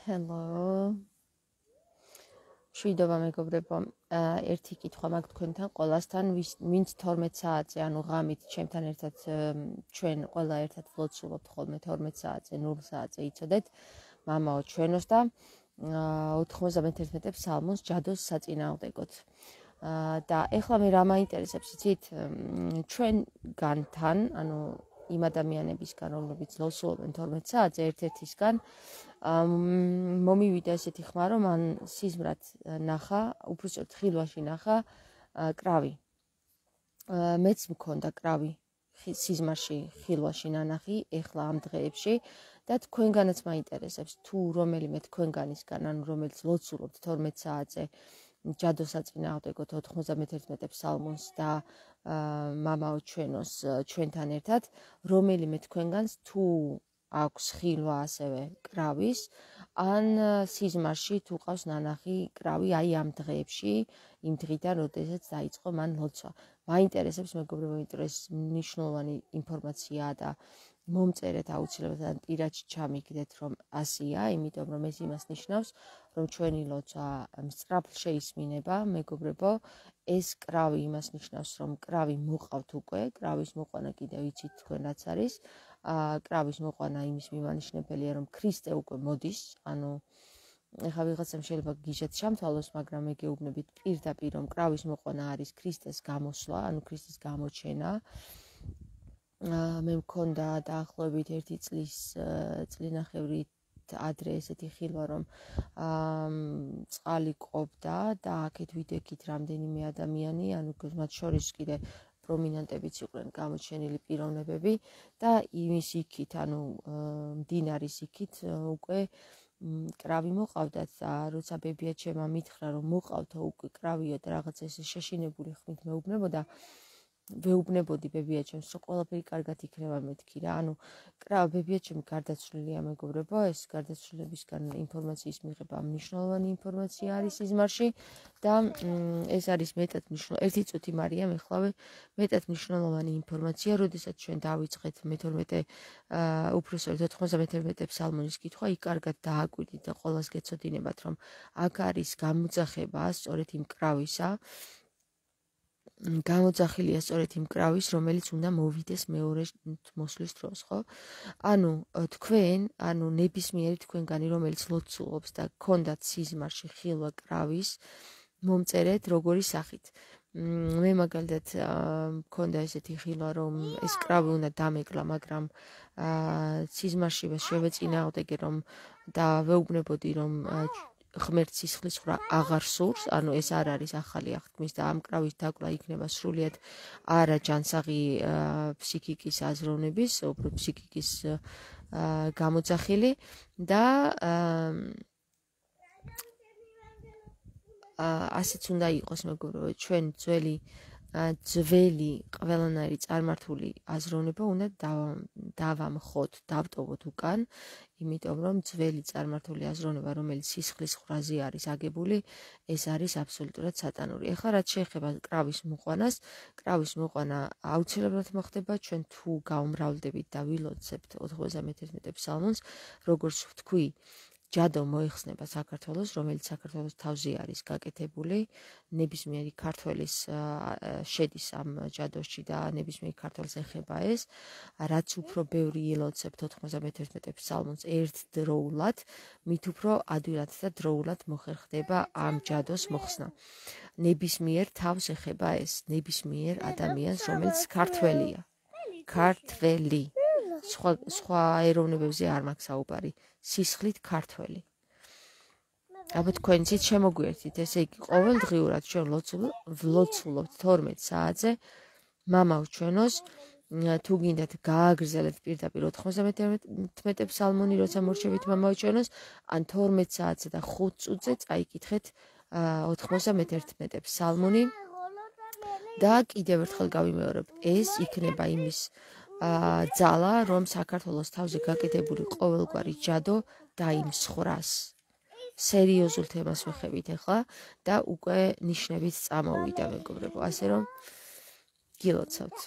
Hello. Შვიდობა მეგობრებო. ერთი კითხვა მაქვს თქვენთან ყველასთან, ვინც 12 საათზე, ანუ ღამით ჩემთან ერთად ჩვენ ყველა ერთად ვლოცულობთ ხოლმე 12 საათზე, 0 საათზე იცოდეთ, მამაო ჩვენოს და 91 ფსალმუნს ჯადოს საწინააღმდეგოდ. და ეხლა მე რა მაინტერესებს, იცით, ჩვენგანთან, ანუ იმ ადამიანებისგან, რომლებიც ვლოცულობენ 12 საათზე, ერთ-ერთისგან მომივიდა ესეთი ხმა, რომ მან სიზმრად ნახა, უბრალოდ ხილვაში ნახა კრავი. მეც მქონდა კრავი სიზმარში, ხილვაში ნანახი, ეხლა ამ დღეებში და თქვენგანაც მაინტერესებს, თუ რომელიმე თქვენგანისგან, ანუ რომელიც ვლოცულობთ 12 საათზე ჯადოს საწინააღმდეგოდ 91 ფსალმუნს და მამაო ჩვენოს ჩვენთან ერთად, რომელიმე თქვენგანს თუ აქვს ხილვა ასევე კრავის, ან სიზმარში თუ ყავს ნანახი კრავი აი ამ დღეებში, იმ დღიდან, როდესაც დაიწყო მან ლოცვა. მაინტერესებს მეგობრებო, იმიტომ ეს მნიშვნელოვანი ინფორმაციაა და მომწერეთ აუცილებლად პირადში ჩამიგდეთ, რომ ასია, იმიტომ რომ ეს იმას ნიშნავს, რომ ჩვენი ლოცვა სწრაფ შეისმინება, მეგობრებო, ეს კრავი იმას ნიშნავს, რომ კრავი მოყავთ უკვე, კრავის მოყვანა კიდევ იცით თქვენ რაც არის. კრავის მოყვანა იმის მიმანიშნებელია, რომ ქრისტე უკვე მოდის, ანუ ეხლა ვიღაცამ შეიძლება გიჟად ჩამთვალოს, მაგრამ მე გეუბნებით პირდაპირ, რომ კრავის მოყვანა არის ქრისტეს გამოსვლა, ანუ ქრისტეს გამოჩენა. მე მქონდა დაახლოებით 1 წლინახევრით ადრე ესეთი ხილვა, რომ წყალი ყოფდა და აქეთ ვიდექით რამდენიმე ადამიანი, ანუ მათ შორის კიდე პრომინენტებიც იყვნენ გამოჩენილი პიროვნებები და იმის იქით, ანუ მდინარის იქით უკვე კრავი მოყავდათ და როცა ბებიაჩემმა მითხრა, რომ მოყავთო უკვე კრავიო და რაღაც ესე შეშინებული ხმით ვეუბნებოდი ბებიაჩემს, რომ ყველაფერი კარგად იქნება მეთქი რა. ანუ ბებიაჩემი გარდაცვლილია მეგობრებო, ეს გარდაცვლილებისგან ინფორმაციის მიღება მნიშვნელოვანი ინფორმაცია არის სიზმარში და ეს არის მეტად მნიშვნელოვანი. ერთი წუთი მარიამ ეხლავე მეტად მნიშვნელოვანი ინფორმაცია, როდესაც ჩვენ დავიწყეთ მე-12 უფროსწორედ 91 ფსალმუნის კითხვა, იქ კარგად დააკვირდით და ყველას გეცოდინებათ, რომ აქ არის გამოძახება სწორედ იმ კრავისა, გამოძახილია სწორედ იმ კრავის, რომელიც უნდა მოვიდეს მეორე მოსვლის დროს, ხო? ანუ თქვენ, ანუ ნებისმიერი თქვენგანი, რომელიც ლოცულობს და გქონდათ სიზმარში ხილვა კრავის, მომწერეთ როგორი სახით. მე მაგალითად მქონდა ესეთი ხილვა, რომ ეს კრავი უნდა დამეკლა, მაგრამ სიზმარში შევეწინააღმდეგე, რომ და ვეუბნებოდი, რომ ღმერთს სისხლისღვრა აღარ სურს, ანუ ეს არ არის ახალი აღთქმის და ამ კრავის დაკლა იქნება სრულიად არა ჯანსაღი ფსიქიკის აზროვნების, უბრალოდ ფსიქიკის გამოძახილი და ასეც უნდა იყოს მეგობრებო, ჩვენ ძველი ყველანაირი წარმართული აზროვნება უნდა დავამხოთ, დავტოვოთ უკან, იმიტომ რომ ძველი წარმართული აზროვნება, რომელიც სისხლის ხრაზე არის აგებული, ეს არის აბსოლუტურად სატანური. ეხლა რაც შეეხება კრავის მოყვანას, კრავის მოყვანა აუცილებლად მოხდება, ჩვენ თუ გაუმრავლდებით და ვილოცებთ 91 ფსალმუნს, როგორც ვთქვი, ჯადო მოიხსნება საქართველოს, რომელიც საქართველოს თავზე არის გაკეთებული, ნებისმიერი ქართველის შედის ამ ჯადოში და ნებისმიერი ქართველს ეხება ეს, რაც უფრო ბევრი ილოცებთ 91 ფსალმუნს ერთდროულად, მით უფრო ადვილად და დროულად მოხერხდება ამ ჯადოს მოხსნა. ნებისმიერ თავს ეხება ეს, ნებისმიერ ადამიანს, რომელიც ქართველია. ქართველი. სხვა ეროვნებებზე არ მაქვს საუბარი. სისხლით ქართველი. აბა თქვენ იცით შემოგვიერთით, ესე იგი ყოველდღიურად ჩვენ ვლოცულობთ 12 საათზე მამაო ჩვენოს, თუ გინდათ გააგრძელებთ პირდაპირ 91 ფსალმუნი, როცა მორჩებით მამაო ჩვენოს, ან 12 საათზე და 5 წუთზე წაიკითხეთ 91 ფსალმუნი და კიდევ ერთხელ გავიმეორებ, ეს იქნება იმის ძალა, რომ საქართველოს თავზე გაკეთებული ყოველგვარი ჯადო დაიმსხვრას. სერიოზულ თემას ვეხებით ახლა და უკვე ნიშნებით წამოვიდა მეგობრებო, ასე რომ გილოცავთ.